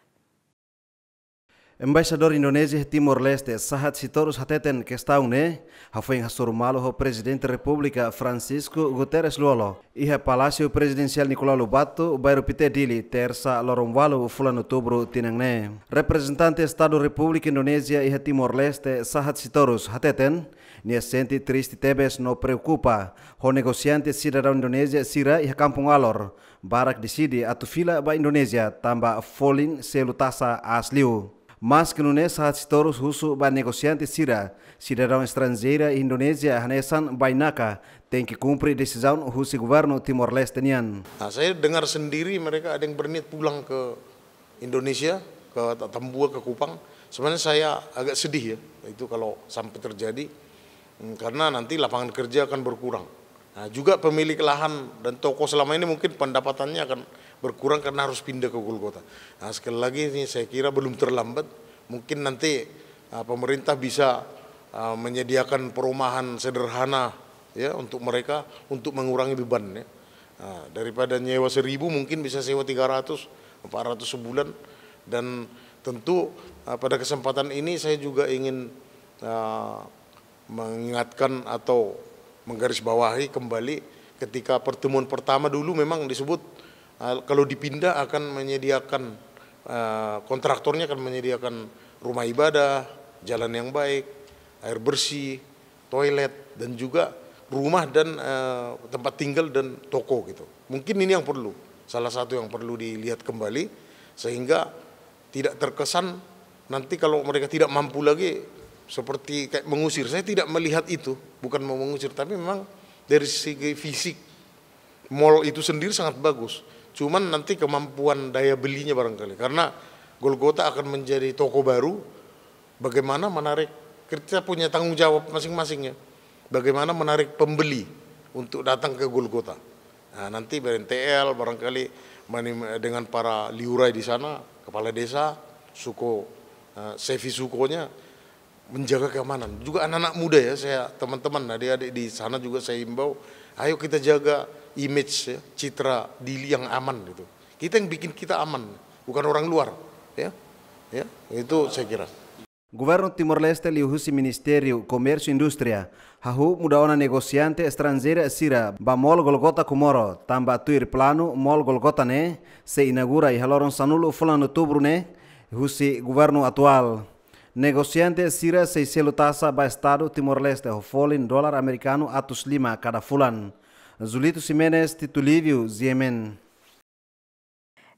Embaixadór Indonézia iha Timor-Leste, Sahat Sitorus hateten kestaun ne'e hafoin hasoru malu ho Prezidente Repúblika Francisco Guterres Lú-Olo iha Palásiu Prezidensiál Nicolau Lobato, Bairru Pité, Dili, Tersa, loron ualu fulan Outubru tinan ne'e. Reprezentante Estadu Repúblika Indonézia iha Timor-Leste, Sahat Sitorus hateten, nia sente triste tebes no preokupa ho negosiante sidadaun Indonézia sira iha Kampung Alor, barak deside atu fila ba Indonézia tanba folin selu taxa aas liu. Maski nune'e, Sahat Sitorus husu ba negosiante sira, sidadaun estranjeira iha Indonézia hanesan bainaka, tenke kumpre desizaun husi governu Timor-Leste nian. Nah, saya dengar sendiri mereka ada yang berniat pulang ke Indonesia, ke Atambua, ke Kupang. Sebenarnya saya agak sedih ya, itu kalau sampai terjadi. Hmm, karena nanti lapangan kerja akan berkurang. Nah, juga pemilik lahan dan toko selama ini mungkin pendapatannya akan berkurang karena harus pindah ke Golgota. Nah, sekali lagi ini saya kira belum terlambat. Mungkin nanti, ah, pemerintah bisa, ah, menyediakan perumahan sederhana ya untuk mereka, untuk mengurangi beban ya. Nah, daripada nyewa seribu, mungkin bisa sewa tiga ratus, empat ratus sebulan. Dan tentu, ah, pada kesempatan ini saya juga ingin, ah, mengingatkan atau menggarisbawahi kembali, ketika pertemuan pertama dulu memang disebut, ah, kalau dipindah akan menyediakan, ah, kontraktornya akan menyediakan rumah ibadah, jalan yang baik, air bersih, toilet, dan juga rumah dan, eh, tempat tinggal dan toko gitu. Mungkin ini yang perlu, salah satu yang perlu dilihat kembali, sehingga tidak terkesan nanti kalau mereka tidak mampu lagi seperti kayak mengusir. Saya tidak melihat itu, bukan mau mengusir, tapi memang dari segi fisik mall itu sendiri sangat bagus. Cuman nanti kemampuan daya belinya barangkali, karena Golgota akan menjadi toko baru. Bagaimana menarik, kita punya tanggung jawab masing-masing ya. Bagaimana menarik pembeli untuk datang ke Golgota. Nah, nanti B R N T L barangkali mani-, dengan para liurai di sana, kepala desa, suku, eh, sefi sukunya, menjaga keamanan. Juga anak-anak muda ya, saya, teman-teman, adik-adik di sana juga saya imbau, ayo kita jaga image ya, citra Dili yang aman gitu. Kita yang bikin kita aman, bukan orang luar ya. Ya, itu saya kira. Governu Timor-Leste liuhusi Ministériu Komérsiu Indústria hahú muda ona negosiante estranjeira sira ba Mall Golgota Comoro, tanba tuir planu Mall Golgota ne'e sei inaugura iha loron sanulu fulan Outubru ne'e husi governu atuál. Negosiante sira sei selu taxa ba Estadu Timor-Leste ho folin dolar amerikanu atus lima kada fulan. Julito Ximenes, Tito Lívio, G M N.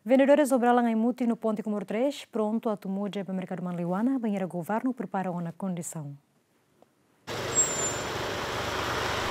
Vendedores Obralan Aimutin no Ponte Comoro três prontu atu muda ba merkadu Manleuana, bainhira governu prepara ona kondisaun.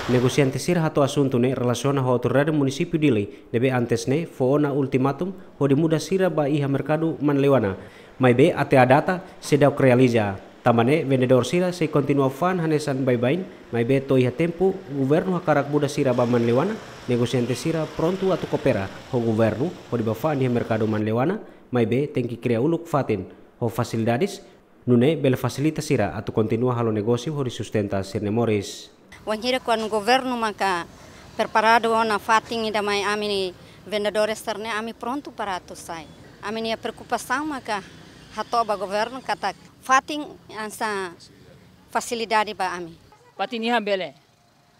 Negosiante sira hato'o asuntu ne'e relasiona ho autoridade munisípiu Dili, ne'ebé antes ne'e fó ona ultimatum hodi muda sira ba iha merkadu Manleuana. Maibé até à data seidauk realiza. Tanba ne'e vendedór sira sei kontinua fa'an hanesan baibain, maibé to'o iha tempu governu hakarak muda sira ba Manleuana, negosiante sira prontu atu koopera ho governu hodi bá fa'an iha merkadu Manleuana, maibé tenke kria uluk fatin ho fasilidades nune'e bele fasilita sira atu kontinua halo negósiu hodi sustenta sira-nia moris. Wainhira kuandu governu maka preparadu ona fatin ida mai ami vendedores sira-ne'e, ami prontu para atu sai. Ami-nia preokupasaun maka hato'o ba governu katak fatin hanesan fasilidade ba ami. Fatin iha bele.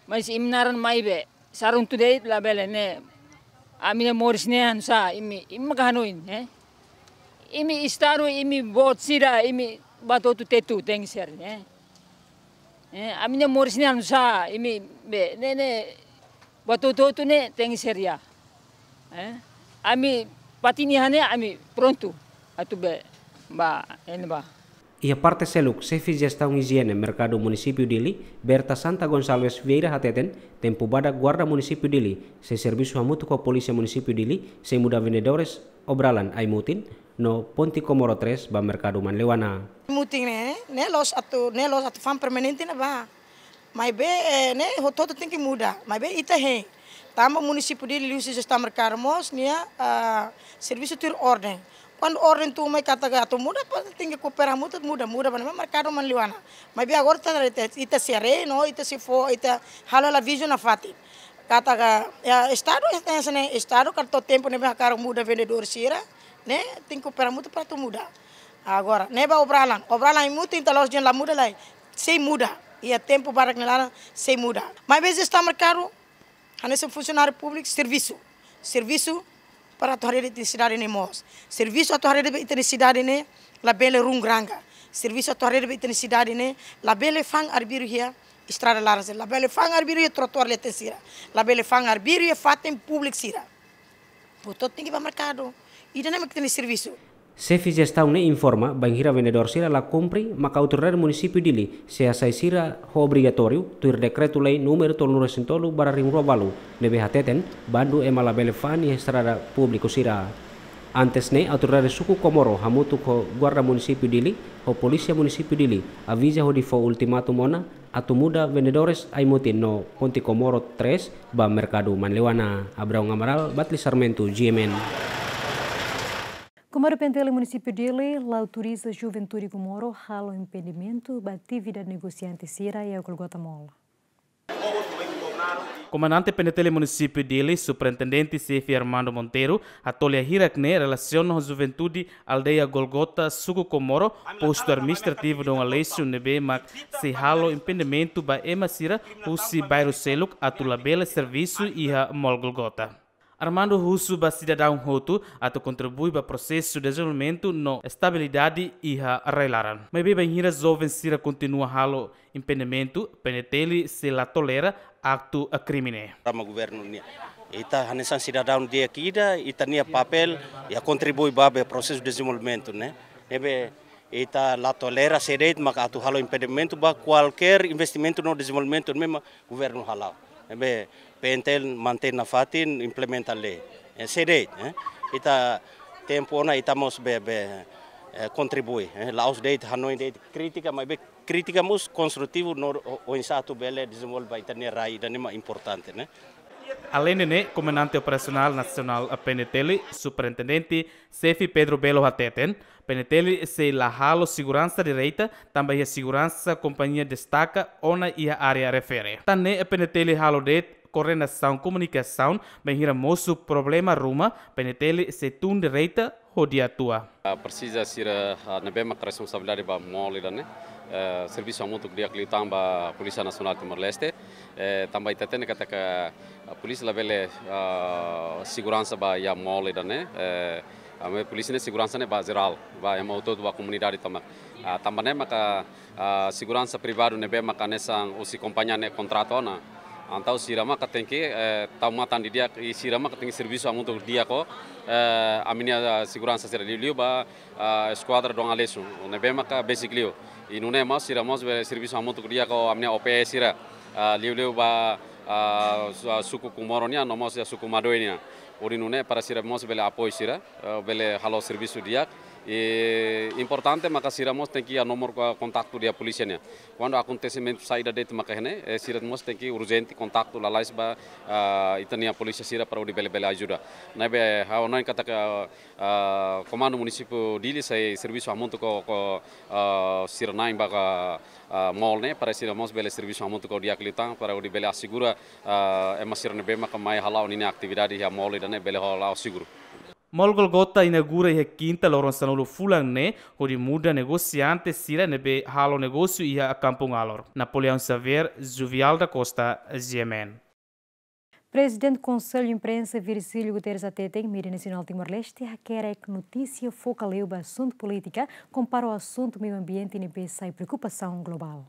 Mas imi naran maibé sarun tude labele ne'e. Ami-nia moris ne'e hanesan imi, imi maka hanoin, eh? Imi Estadu, imi boot sira, imi bá hotu tetu tenke ser, eh? Eh, ami-nia moris ne'e hanesan imi be, ne'e, ne'e, bá hotu-hotu ne'e tenke ser ya. Eh? Ami fatin iha ne'e ami prontu atu be bá, ne'ebá. Iha parte seluk, Xefe Jestaun Ijiene Merkadu Munisípiu Dili, Berta Santa Gonçalves Vieira hateten, tempu badak Guarda Munisípiu Dili sei servisu hamutuk ho Polísia Munisípiu Dili sei muda vendedores Obralan Aimutin no Ponte Comoro três ba merkadu Manleuana. Aimutin ne'e, ne'e loos atu, ne'e loos atu fa'an permanente ne'ebá. Maibé, eh, ne'e hotu-hotu tenke muda. Maibé ita hein. Tanba munisípiu Dili liuhusi jestaun merkadu mós nia, ah, servisu tuir orden. Kuandu orden tun mai katak atu muda, pa tenke koopera hamutuk muda, muda ba ne'ebá, merkadu Manleuana. Maibé agora ita, ita, ita sei haree no ita sei fó, ita halo hela vídeo nafatin. Katak, ya, Estadu, ya, Estadu, katak to'o tempu ne'ebé hakarak muda vendedór sira, ne'e tenke koopera hamutuk para atu muda. Agora, ne'e ba obralan. Obralan imutin ta los jen la muda lai. Sei muda. Iha tempu barak nia laran, sei muda. Maibé jestaun merkadu, hanesan funsionáriu públiku, servisu. Servisu para atu haree de'it ita-nia sidade ne'e moos. Servisu atu haree de'it ita-nia sidade ne'e labele runguranga. Servisu atu haree de'it ita-nia sidade ne'e labele fa'an arbiru iha estrada laran sira. Labele fa'an arbiru iha trotoar leten sira. Labele fa'an arbiru iha fatin públiku sira. Hotu-hotu tenke ba merkadu. Ida-ne'e mak ita-nia servisu. Xefe jestaun ne'e informa, bainhira vendedór sira la kumpre, maka autoridade munisípiu Dili sei hasai sira ho obrigatóriu, tuir dekretu-lei númeru tolunulu-resin-tolu barra rihun rua balu, ne'ebé hateten, bandu ema labele fa'an iha estrada públiku sira. Antes ne'e, autoridade suku Komoro hamutuk ho guarda munisípiu Dili, ho polísia munisípiu Dili, aviza hodi fó ultimatum ona, atu muda vendedores ai-mutin no Ponte Komoro três ba merkadu Manleuana. Abraão Amaral, Batli Sarmento, G M N. Komando P N T L munisípiu Dili la autoriza juventude Komoro halo impedimentu ba atividade negosiante sira iha Golgota Mall. Komandante P N T L munisípiu Dili, Superintendente Xefe Armando Monteiro, hato'o lia hirak ne'e relasiona ho juventude aldeia Golgota, suku Komoro, postu administrativu Dom Aleixo, ne'ebé mak sei halo impedimentu ba ema sira husi bairru seluk atu labele servisu iha Mall Golgota. Armando husu ba sidadaun hotu atu kontribui ba prosesu dezenvolvimentu no estabilidade iha rai-laran. Maibé bainhira joven sira kontinua halo impedimentu, P N T L sei la tolera aktu krime ne'e. Rama governu nian. Ita hanesan sidadaun di'ak ida, ita-nia papél iha kontribui ba be prosesu dezenvolvimentu ne'e. Ne'ebé ita la tolera sé de'it maka atu halo impedimentu ba kualkér investimentu no dezenvolvimentu ne'ebé mak governu hala'o. Ne'ebé P N T L mantein nafatin, implementa lei. Eh, sé de'it, eh. Ita tempu ona ita mós be, be, eh, kontribui, eh. La'ós de'it hanoin de'it krítika, maibé krítika mós konstrutivu no o, oinsá atu bele dezenvolve ba ita-nia rai, ida-ne'e mak importante, ne'e. Aleinde ne'e, Komandante Operasionál Nasionál P N T L, Superintendente Xefe Pedro Belo hateten, P N T L sei la halo seguransa direta, tanba iha seguransa kompañia destaka ona iha área refere. Tan ne'e P N T L halo de'it koordenasaun komunikasaun, bainhira mosu problema ruma, P N T L sei tun direta hodi atua. Ah, presiza sira, ah, ne'ebé mak responsabilidade ba mall ida-ne'e, eh, servisu hamutuk di'ak liután ba Polísia Nasionál Timor-Leste, eh, tanba ita hatene katak, ah, polísia labele, ah, seguransa ba iha mall ida-ne'e, eh, ami polísia ne'e seguransa ne'e ba jerál, ba ema hotu-hotu ba komunidade tomak. Ah, tanba ne'e maka, ah, seguransa privadu ne'ebé maka hanesan husi kompañia ne'e kontratu ona. Entaun sira maka tenke, eh, tau matan didi'ak i sira maka tenke servisu hamutuk di'ak ho, eh, ami-nia, ah, seguransa sira liuliu ba, ah, eskuadra Dom Aleixo, ne'ebé maka besik liu. I nune'e mós sira mós be servisu hamutuk di'ak ho ami-nia O P S sira, ah, liuliu ba, ah, su-, ah, suku Komoro nian, no mós iha suku Madoe nian. Hodi nune'e para sira mós bele apoiu sira, eh, bele halo servisu di'ak. I importante maka sira mós tenke iha nomor ko-, kontaktu iha polísia nian. Kuandu akontesimentu saida de'it maka iha ne'e, eh, sira mós tenke urjente kontaktu lalais ba, ah, ita-nia polísia sira para hodi bele, bele ajuda. Ne'ebé ha'u hanoin katak, ah, Komandu Munisípiu Dili sei servisu hamutuk ho, ho, ah, sira na'in ba, ah, mall ne'e, para sira mós bele servisu hamutuk ho di'ak liután, para hodi bele asegura, ah, ema sira ne'ebé maka mai hala'o ninia atividade iha mall ida-ne'e bele hala'o seguru. Mall Golgota inaugura iha Kinta loron sanulu fulan ne'e, hodi muda negosiante sira ne'ebé halo negósiu iha Kampung Alor. Napoleão Xavier, Juvial da Costa, G M N. Prezidente Konsellu Imprensa Virgílio Guterres hateten, mídia nasionál Timor-Leste hakerek notísia foka liu ba asuntu polítika, kompara ho asuntu meiu ambiente ne'ebé sai preokupasaun globál.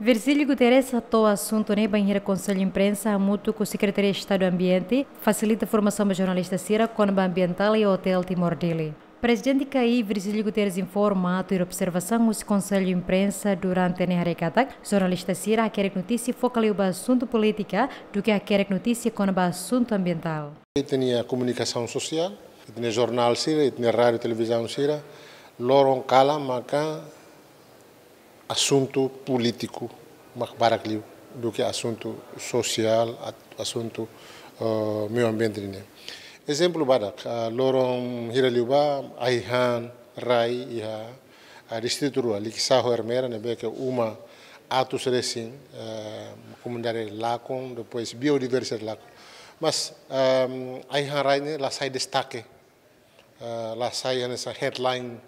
Virgílio Guterres hato'o asuntu ne'e bainhira Konsellu Imprensa hamutuk ho Sekretaria Estadu Ambiente fasilita formasaun ba jornalista sira kona-ba ambientál iha Hotel Timor Dili. Prezidente K I Virgílio Guterres informa, tuir observasaun husi Konsellu Imprensa durante ne'e haree katak, jornalista sira hakerek notísia foka liu ba asuntu polítika, duké hakerek notísia kona-ba asuntu ambientál. Ita-nia komunikasaun sosiál, ita-nia jornál sira, ita-nia rádiu, televizaun sira, loron kalan maka asuntu polítiku mak barak liu duké asuntu sosiál, at-, asuntu, eh, meiu ambiente nian. Ezemplu badak, ah, loron hira liubá, ai-han rai iha, ah, distritu rua, Likisá ho Ermera, ne'ebé ke uma atus resin, eh, komunidade lakon, depois biodiversidade lakon. Mas, ehm, ai-han rai ne'e la sai destake. Ah, la sai hanesan headline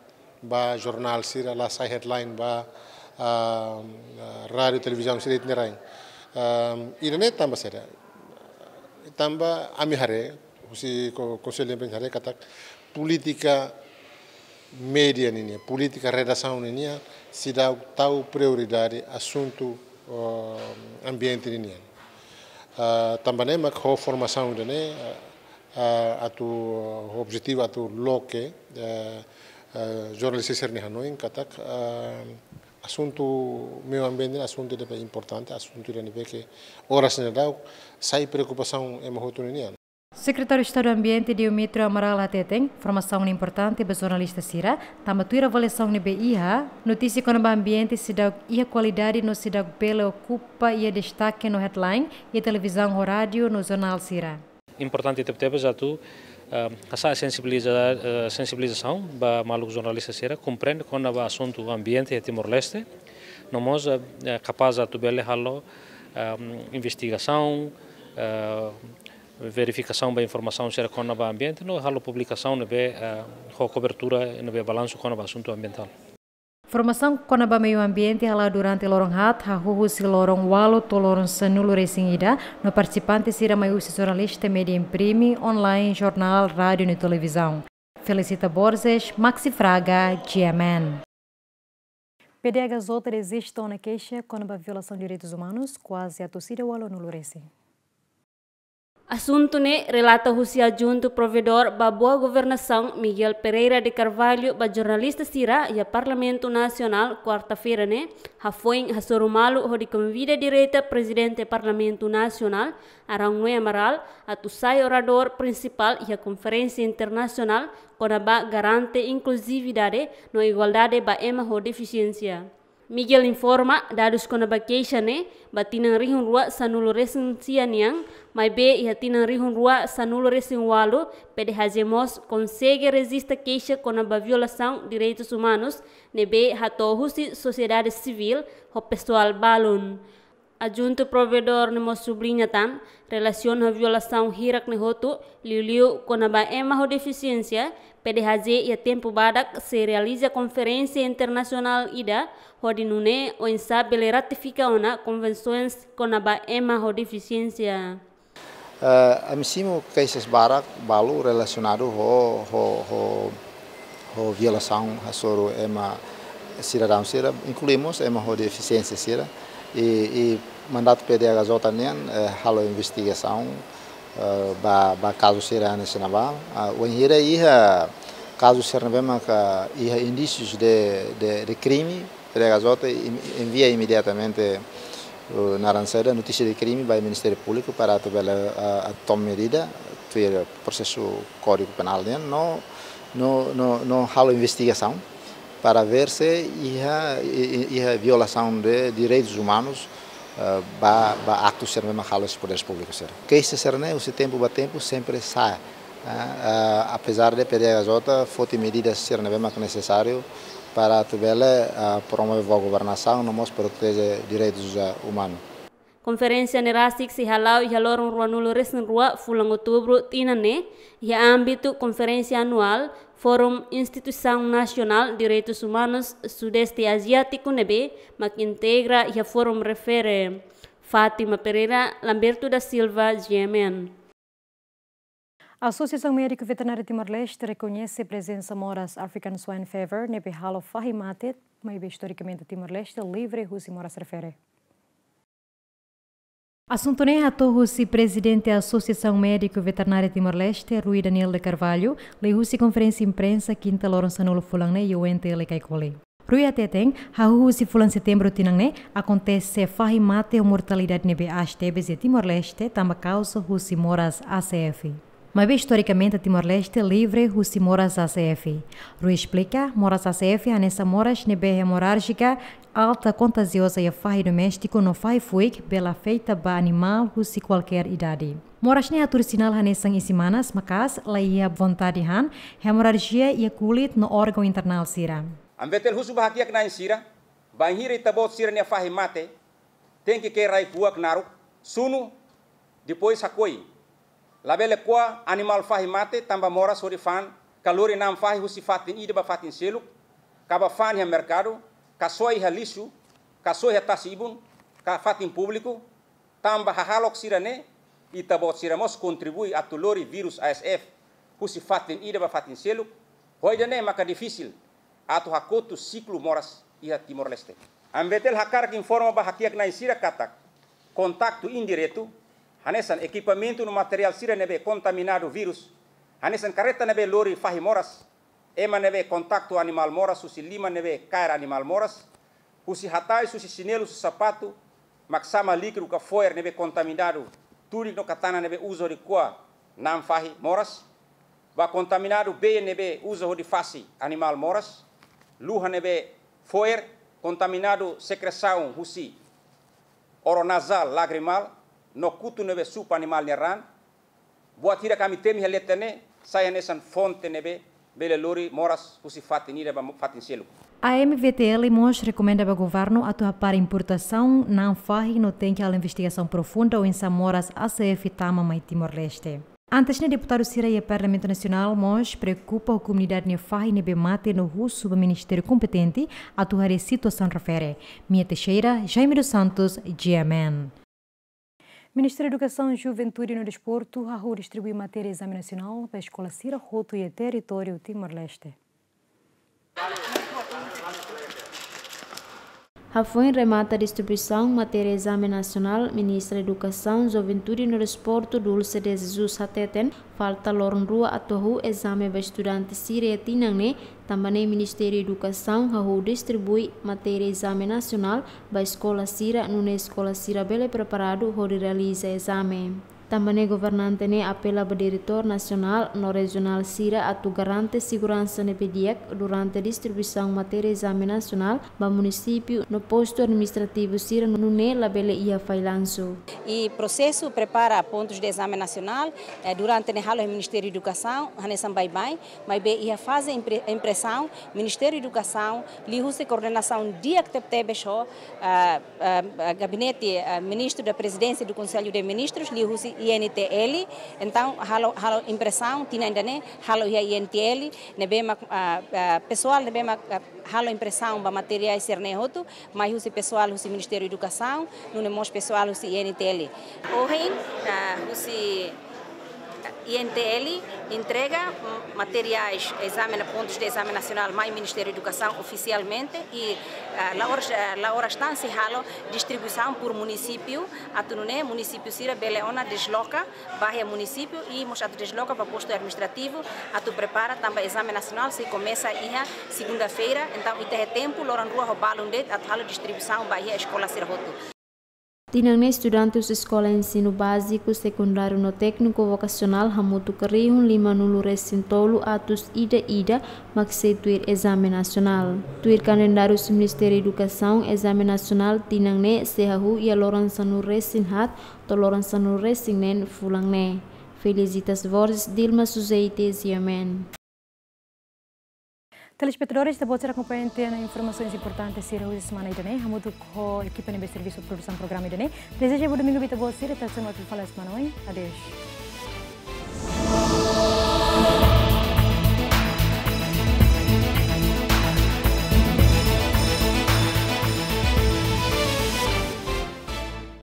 ba jornál sira, la sai headline ba, ah, ah, rádiu, televizaun sira iha ita-nia rain. Ah, ida-ne'e tanba saida? Tanba ami haree, husi ko-, Konsellu Imprensa haree katak polítika média ninian, polítika redasaun ninian, seidauk tau prioridade asuntu, ah, ambiente ninian. Ah, tanba ne'e mak ho formasaun ida-ne'e, ah, ah, atu, ah, objetivu atu loke, ah, ah, jornalista sira-nia hanoin katak, ah, asuntu meiu ambiente asuntu ida ne'ebé importante, asuntu ida ne'ebé ke oras ne'e daudaun sai preokupasaun ema hotu ninian. Sekretáriu Estadu Ambiente Diomitrio Amaral hateten, formasaun ne'e importante ba jornalista sira, tanba tuir avaliasaun ne'ebé iha, notísia kona-ba ambiente seidauk iha kualidade no seidauk bele okupa iha destake no headline iha televizaun ho rádiu no jornál sira. Importante tebetebes atu, ah, hasa'e sensibiliza-, ah, sensibilizasaun ba maluk jornalista sira, komprende kona-ba asuntu ambiente iha Timor-Leste, no mós, ah, eh, kapás atu bele halo, ah, investigasaun, ah, verifikasaun ba informasaun sira kona-ba ambiente, no halo publikasaun ne'ebé, ah, ho kobertura ne'ebé balansu kona-ba asuntu ambientál. Formasaun kona-ba meiu ambiente hala'o durante loron haat, hahú husi loron ualu to'o loron sanulu-resin-ida, no partisipante sira mai husi jornalista média imprime, online, jornál, rádiu no televizaun. Felicita Borges, Maxi Fraga, G M N. P D H J reziste ona keixa kona-ba violasaun direitus umanus, kuaze atus ida ualunulu-resin. Asuntu ne'e relata husi Adjuntu Provedór ba Boa Governasaun, Miguel Pereira de Carvalho, ba jornalista sira iha Parlamentu Nasionál, kuarta-feira ne'e, hafoin hasoru malu hodi konvida direta Prezidente Parlamentu Nasionál, Arão Noé Amaral, atu sai oradór prinsipál iha konferénsia internasionál kona-ba garante inkluzividade no igualdade ba ema ho defisiénsia. Miguel informa, dadus kona-ba keixa ne'e, ba tinan rihun rua sanulu-resin-sia nian, maibé iha tinan rihun rua sanulu-resin-ualu, P D H J mós konsege rejista keixa kona-ba violasaun direitus umanus ne'ebé hato'o husi sosiedade sivíl ho pesoál balun. Adjuntu Provedór ne'e mós subliña tan, relasiona ho violasaun hirak ne'e hotu, liuliu kona-ba ema ho defisiénsia, P D H J iha tempu badak sei realiza konferénsia internasionál ida, hodi nune'e oinsá bele ratifika ona konvensoens kona-ba ema ho defisiénsia. Eh, ami simu keixa barak balu relasionadu ho, ho, ho, ho violasaun hasoru ema sidadaun sira, inklui mós ema ho defisiénsia sira. I, i mandatu P D H J nian, eh, halo investigasaun, eh, ba, ba kazu sira hanesan ne'ebá. Ah, wainhira iha kazu sira ne'ebé maka iha indísius de, de, de krime, P D H J en-, envia imediatamente, uh, naran saida, notísia de krime ba Ministériu Públiku para atu bele, uh, toma medida, tuir prosesu Kódigu Penál nian, no, no, no, no halo investigasaun para ver se iha, i-, i-, iha violasaun de direitus umanus, uh, ba, ba aktu sira ne'ebé halo husi podér públiku sira. Keixa sira ne'e, husi tempu ba tempu, sempre sa'e. Ah, ah, apezar de P D H J foti medidas sira ne'ebé mak nesesáriu para atu bele, ah, promove boa governasaun no mós proteje direitus, ah, umanu. Konferénsia ne'e rasik sei hala'o iha loron ruanulu-resin-rua fulan Outubru tinan ne'e, iha ámbitu konferénsia anuál Fórum Instituisaun Nasionál Direitus Umanus Sudeste Aziátiku ne'ebé mak integra iha Fórum Refere. Fátima Pereira, Lamberto da Silva, G M N. Asosiasaun Médiku Veterináriu Timor-Leste rekoñese prezensa moras African Swine Fever ne'ebé halo fahi mate, maibé istorikamente Timor-Leste livre husi moras refere. Asuntu ne'e hato'o husi Prezidente Asosiasaun Médiku Veterináriu Timor-Leste, Rui Daniel de Carvalho, liuhusi konferénsia imprensa kinta loron sanulu fulan ne'e iha U N T L Caicoli. Rui hateten, hahú husi fulan Setembru tinan ne'e, akontese fahi mate ho mortalidade ne'ebé aas tebes iha Timor-Leste, tanba kauza husi moras A C F. Maibé istorikamente Timor-Leste livre husi moras A C F. Rui esplika, moras A C F hanesan moras ne'ebé hemorrájika, alta, kontajioza iha fahi doméstiku no fahi fuik, bele afeta ba animál husi kualkér idade. Moras ne'e hatudu sinál hanesan isin-manas, maka'as, laiha vontade han, hemorrajia iha kulit no órgaun internál sira. Ami bele husu ba hakiak-na'in sira, bainhira ita-boot sira-nia fahi mate, tenke ke'e rai-kuak naruk, sunu, depois hakoi. Labele ko'a animál fahi mate tanba moras hodi fa'an ka lori na'an fahi husi fatin ida ba fatin seluk, ka bá fa'an iha merkadu, ka soe iha lixu, ka soe iha tasi-ibun, ka fatin públiku, tanba hahalok sira-ne'e, ita-boot sira mós kontribui atu lori vírus A S F husi fatin ida ba fatin seluk, ho ida-ne'e maka difisil atu hakotu siklu moras iha Timor-Leste. Ami-V T L hakarak informa ba hakiak-na'in sira katak kontaktu indiretu, hanesan ekipamentu no materiál sira ne'ebé kontaminadu vírus, hanesan karreta ne'ebé lori fahi moras, ema ne'ebé kontaktu animál moras husi liman ne'ebé kaer animál moras, husi hatais, husi xinelu, husi sapatu, mak sama líkidu ka foer ne'ebé kontaminadu tudik no katana ne'ebé uza hodi ko'a na'an fahi moras, ba kontaminadu bee ne'ebé uza hodi fase animál moras, luha ne'ebé foer, kontaminadu sekresaun husi oronazál lagrimál, no kutu ne'ebé supa animál nia raan. Buat hirak ami temi iha leten ne'e sai hanesan fonte ne'ebé bele lori moras husi fatin ida ba fatin seluk. A M-V T L mós rekomenda ba governu atu hapara importasaun na'an fahi no tenke halo investigasaun profunda oinsá moras A S F tama mai Timor-Leste. Antes ne'e, deputadu sira iha Parlamentu Nasionál mós preokupa ho komunidade nia fahi ne'ebé mate no husu ba ministériu kompetente atu haree situasaun refere. Mia Teixeira, Jaime dos Santos, G M N. Ministériu Edukasaun, Juventude no Desportu hahú distribui matéria ezame nasionál ba eskola sira hotu iha territóriu Timor-Leste. Hafoin remata distribuisaun matéria ezame nasionál, Ministra Edukasaun, Juventude no Desportu, Dulce de Jesus, hateten, falta loron rua atu hahú ezame ba estudante sira iha tinan ne'e, tanba ne'e Ministériu Edukasaun hahú distribui matéria ezame nasionál ba eskola sira, nune'e eskola sira bele preparadu hodi realiza ezame. Tanba ne'e governante ne'e apela ba diretór nasionál no rejionál sira atu garante seguransa ne'ebé di'ak durante distribuisaun matéria ezame nasionál ba munisípiu no postu administrativu sira, nune'e labele iha fallansu. I prosesu prepara pontus de ezame nasionál, eh, durante ne'e halo iha Ministériu Edukasaun, hanesan baibain, maibé iha faze impre-, impresaun, Ministériu Edukasaun, liuhusi koordenasaun di'ak tebetebes ho, ah, ah, ah, Gabinete, ah, Ministru da Prezidénsia do Konsellu de Ministrus, liuhusi I N T L, entaun halo, halo impresaun, tinan ida-ne'e, halo iha I N T L, ne'ebé mak, ah, ah, pesoál ne'ebé mak, ah, halo impresaun ba materiál sira-ne'e hotu, mai husi pesoál husi Ministériu Edukasaun, nune'e mós pesoál husi I N T L. Ohin, ah, husi I N T L entrega, mm, materiais, ezame, pontus de ezame nasionál mai Ministériu Edukasaun ofisialmente i, ah, la oras, ah, la oras tan sei halo distribuisaun por munisípiu, atu nune'e munisípiu sira bele ona desloka ba iha munisípiu i mós atu desloka ba postu administrativu atu prepara tanba ezame nasionál sei komesa iha segunda-feira, entaun ita iha tempu loron rua ho balun de'it atu halo distribuisaun ba iha eskola sira hotu. Tinan ne'e estudante husi eskola ensinu báziku, sekundáriu no tékniku vokasionál hamutuk rihun lima-nulu resin tolu atus ida-ida mak sei tuir ezame nasionál. Tuir kalendáriu husi Ministériu Edukasaun, ezame nasionál tinan ne'e sei hahú iha loron sanulu resin haat to'o loron sanulu resin neen fulan ne'e. Felicitas Borges, Dilma Suzeite, G M N. Telespetadores, ita-boot sira akompaña ita-nia informasaun importante sira husi semana ida-ne'e, hamutuk ho ekipa ne'ebé servisu produsaun programa ida-ne'e. Dezeja boa domingu ba ita-boot sira, ita sei hamutuk fali semana oin. Adeus.